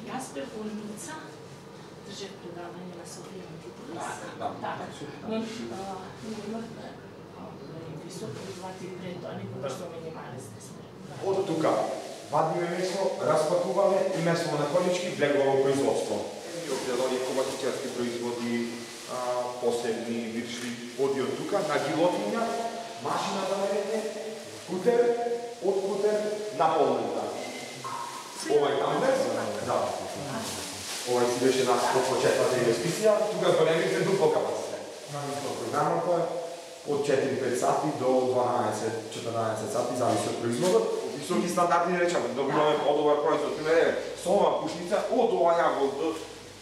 Гаспер Болница држат предавање на современите туристи. Но имавме високо извати пред тоа, никогаш што минимални сте. Од тука вадиме месо, распакуваме и месо на конички влегува во производство. Обделани коматичарски производи, посебни вирши оди од тука на гилотинја, машина за варење, кутер, од кутер на полница. Ова е тамбер? Да. Ова си беше нас по почетната инвестиција, тука големите дупло капацитет. Програмата од 4-5 сати до 12-14 сати, зависи од производот. Високи стандарди, речеме, добиваме подобар производ. Со ова пушница, од ова јагол,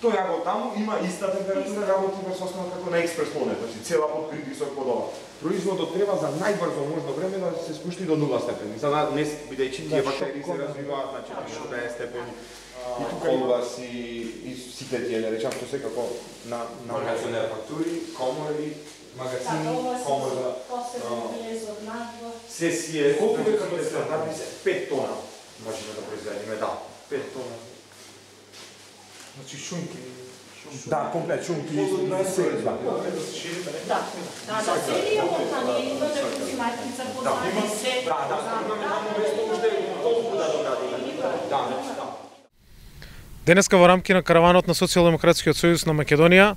тој јагол таму има иста температура, работи врз основа како на експрес плонет, значи цела под притисок под ова. Производот треба за најбрзо можно време да се спушти до 0 степени, за да не бидејќи тие бактерии се развиваат на 40 степени. И тука има и сите тие, не речам, што секако на фактури, комори, магазини, комора, сесија, колку е капацитет? 5 тона можеме да произведеме, да, 5 тона. Значи шунки. Да, комплет шунки. Да, целија компанија има да консуматица познати се. Да, имаме таму место уште толку да доградиме. Да. Денеска во рамки на караванот на Социјалдемократскиот сојуз на Македонија,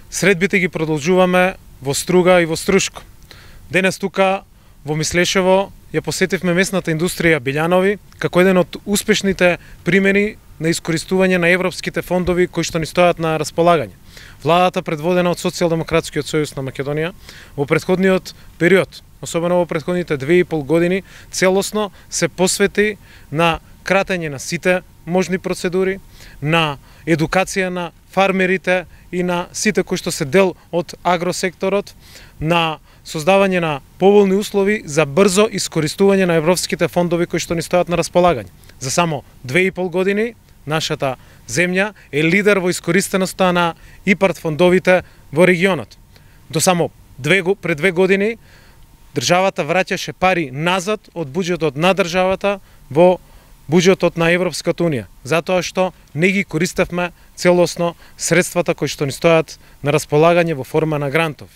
средбите ги продолжуваме во Струга и во Струшко. Денес тука во Мислешево ја посетивме местната индустрија Билјанови како еден од успешните примери на искористување на европските фондови кои што ни стојат на располагање. Владата предводена од Социјалдемократскиот сојуз на Македонија во претходниот период, особено во претходните 2,5 години, целосно се посвети на кратење на сите можни процедури, на едукација на фармерите и на сите кои што се дел од агросекторот, на создавање на поволни услови за брзо искористување на европските фондови кои што ни стојат на располагање. За само 2,5 години нашата земја е лидер во искористеноста на ИПАРД фондовите во регионот. До само пред 2 години државата враќаше пари назад од буџетот на државата во буџетот на Европската Унија, затоа што не ги користевме целосно средствата кои што ни стојат на располагање во форма на грантови.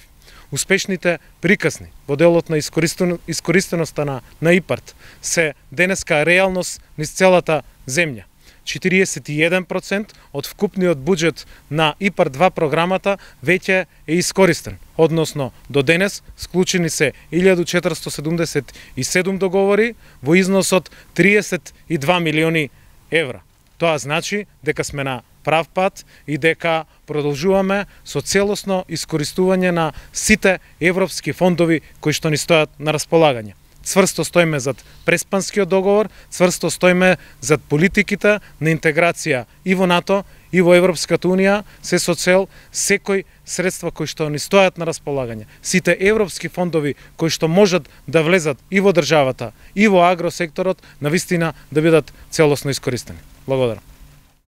Успешните приказни во делот на искористеноста на ИПАРД се денеска реалност низ целата земја. 41% од вкупниот буџет на ИПАРД 2 програмата веќе е искористен, односно до денес склучени се 1477 договори во износ од 32 милиони евра. Тоа значи дека сме на прав пат и дека продолжуваме со целосно искористување на сите европски фондови кои што ни стојат на располагање. Цврсто стоиме зад Преспанскиот договор, цврсто стоиме зад политиките на интеграција и во НАТО, и во Европската Унија, се со цел секој средства кои што ни стојат на располагање, сите европски фондови кои што можат да влезат и во државата, и во агросекторот, навистина да бидат целосно искористени. Благодарам.